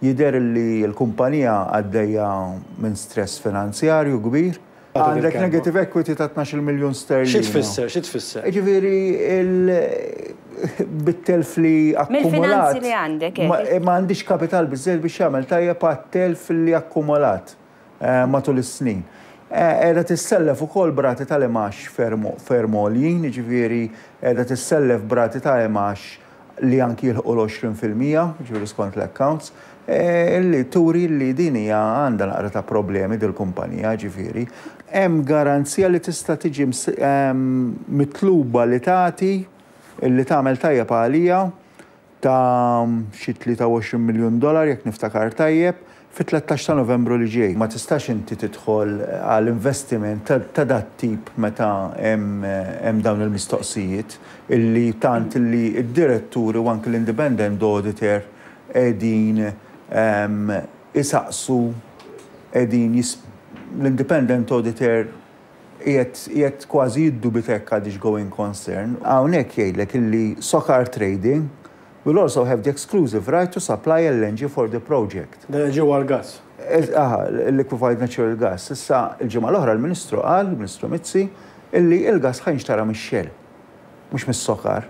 Jidher li l-kumpanija għaddejja minn stress finanzjarju kbir. Għandek negative equity ta' 12 miljun sterlina. Xi tfisser? Xi tfisser? Jiġifieri bit-telf li akkumulat. Mill-finanzi li għandek. Ma għandix kapital biżżejjed biex jagħmel tajjeb għat-telf li akkumulat matul is-snin. Qiegħda tissellef ukoll b'rati tal-imgħax ferm għoljin, jiġifieri qiegħda tissellef b'rati ta' imgħax li anki jilħqu l-20%, jiġifieri skont l-accounts, li turi li din hija għandha naqra ta' problemi dil-kumpanija, ġifieri. Hemm garanzija li tista' tiġi mitluba li tagħti, li tagħmel tajjeb għalija ta' xi 23 miljun dollar jekk niftakar tajjeb, fit-13 ta' Novembru li ġej. Ma tistax inti tidħol għal investiment ta' dat-tip meta hemm dawn il-mistoqsijiet illi tant illi d-diretturi u anki l-independent auditor qegħdin isaqsu qegħdin l-independent auditor qiegħed kważi jiddubita jekk għadhiex going concern. Hawnhekk jgħidlek illi Socar Trading will also have the exclusive right to supply LNG for the project. L-LNG huwa l-gass. Aha, liquefied natural gas. Issa, il-ġimgħa l-oħra l-Ministru qal, il-Ministru Mizzi, illi l-gass ħa jinxtara mix-Shell, mhux mis-Socar.